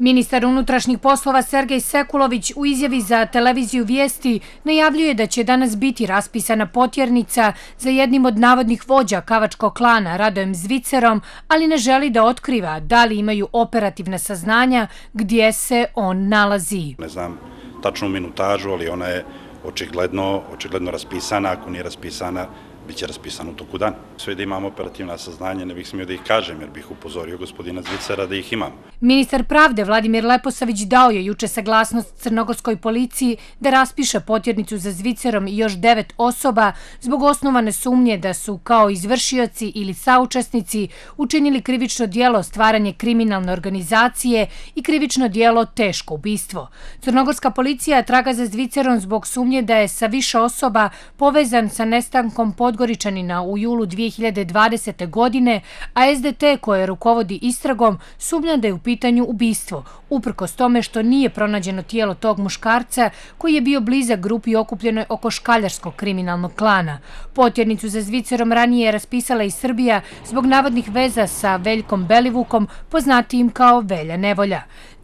Ministar unutrašnjih poslova Sergej Sekulović u izjavi za televiziju Vijesti najavljuje da će danas biti raspisana potjernica za jednim od navodnih vođa kavačkog klana Radojem Zvicerom, ali ne želi da otkriva da li imaju operativna saznanja gdje se on nalazi. Ne znam tačnu minutažu, ali ona je očigledno raspisana. Ako nije raspisana, biće raspisano u toku dana. Sve da imamo operativna saznanja, ne bih smio da ih kažem, jer bih upozorio gospodina Zvicera da ih imam. Ministar pravde Vladimir Leposavić dao je juče saglasnost crnogorskoj policiji da raspiše potjernicu za Zvicerom i još 9 osoba zbog osnovane sumnje da su kao izvršioci ili saučesnici učinili krivično djelo stvaranje kriminalne organizacije i krivično djelo teško ubistvo. Crnogorska policija traga za Zvicerom zbog sumnje da je sa više osoba povezan sa nestankom Podgoričanina u julu 2020. godine, a SDT koje rukovodi istragom sumnja da je u pitanju ubistvo, uprkos tome što nije pronađeno tijelo tog muškarca koji je bio blizak grupi okupljenoj oko škaljarskog kriminalnog klana. Potjernicu za Zvicerom ranije je raspisala i Srbija zbog navodnih veza sa Veljkom Belivukom, poznatijim kao Velja Nevolja.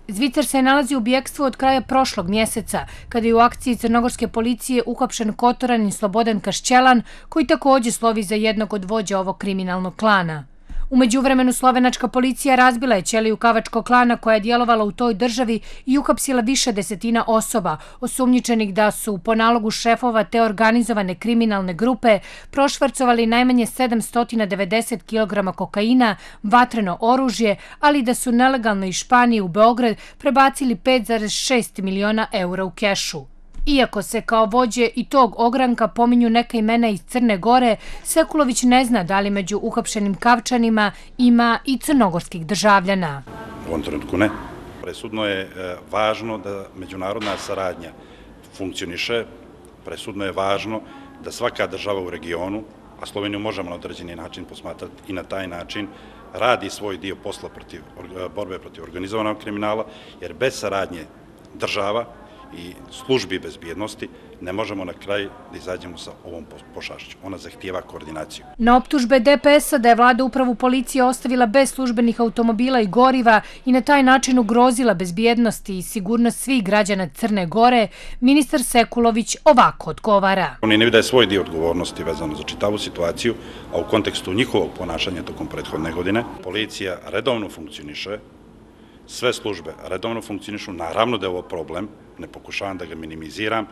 Zvicer se nalazi u bjekstvu od kraja prošlog mjeseca, kada je u akciji crnogorske policije uhapšen Kotoranin Slobodan Kašćelan, koji također slovi za jednog od vođa ovog kriminalnog klana. U međuvremenu slovenačka policija razbila je ćeliju kavačkog klana koja je djelovala u toj državi i uhapsila više desetina osoba, osumnjičenih da su po nalogu šefova te organizovane kriminalne grupe prošvercovali najmanje 790 kg kokaina, vatreno oružje, ali da su nelegalno iz Španije u Beograd prebacili 5,6 miliona eura u kešu. Iako se kao vođe i tog ogranka pominju neka imena iz Crne Gore, Sekulović ne zna da li među uhapšenim Kavčanima ima i crnogorskih državljana. U ovom trenutku ne. Presudno je važno da međunarodna saradnja funkcioniše, presudno je važno da svaka država u regionu, a Sloveniju možemo na određeni način posmatrati i na taj način, radi svoj dio posla borbe protiv organizovanog kriminala, jer bez saradnje država i službi bezbjednosti ne možemo na kraj da izađemo sa ovom pošašću. Ona zahtijeva koordinaciju. Na optužbe DPS-a da je vlada upravu policije ostavila bez službenih automobila i goriva i na taj način ugrozila bezbjednost i sigurnost svih građana Crne Gore, ministar Sekulović ovako odgovara. Oni ne vide svoj dio odgovornosti vezano za čitavu situaciju, a u kontekstu njihovog ponašanja tokom prethodne godine. Policija redovno funkcioniše, sve službe redovno funkcionišu, naravno da je ovo problem, ne pokušavam da ga minimiziram,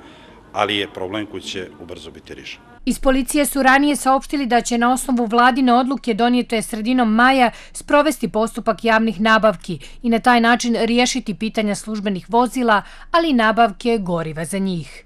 ali je problem koji će ubrzo biti rješen. Iz policije su ranije saopštili da će na osnovu vladine odluke donijete sredinom maja sprovesti postupak javnih nabavki i na taj način riješiti pitanja službenih vozila, ali i nabavke goriva za njih.